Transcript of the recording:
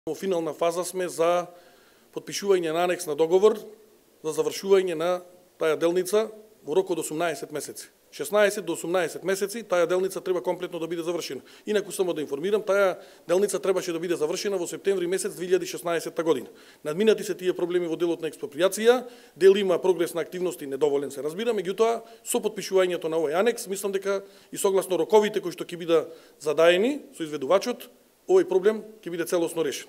Во финална фаза сме за потпишување на анекс на договор за завршување на таа делница во рок од 18 месеци. 16 до 18 месеци таа делница треба комплетно да биде завршена. Инаку само да информирам, таа делница требаше да биде завршена во септември месец 2016 година. Надминати се тие проблеми во делот на експроприација, дел има прогрес на активности, недоволен се разбира, меѓутоа со потпишувањето на овој анекс мислам дека и согласно роковите кои што ќе бидат задаени со изведувачот, овој проблем ќе биде целосно решен.